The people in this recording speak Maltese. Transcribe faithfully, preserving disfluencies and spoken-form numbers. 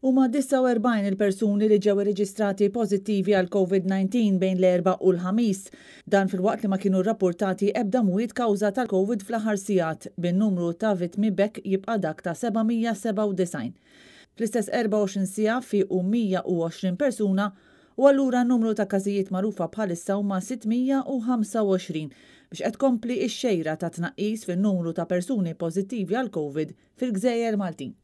Huma disgħa u erbgħin il-persuni li ġew irreġistrati pożittivi għal Covid nineteen bejn l-Erbgħa u l-Ħamis. Dan filwaqt li ma kienu rrappurtati ebda mwiet kawża tal-Covid fl-aħħar sigħat, bin-numru ta' vittmi b'hekk jibqa' dak ta' seba' mija sebgħa u disgħin. Fl-istess erbgħa u għoxrin siegħa fiequ mija u għoxrin persuna u allura n-numru ta' każijiet magħrufa bħalissa huma sitt mija u ħamsa u għoxrin biex qed tkompli x-xejra ta' tnaqqis fin-numru ta' persuni pożittivi għal Covid fil-Gżejjer Maltin.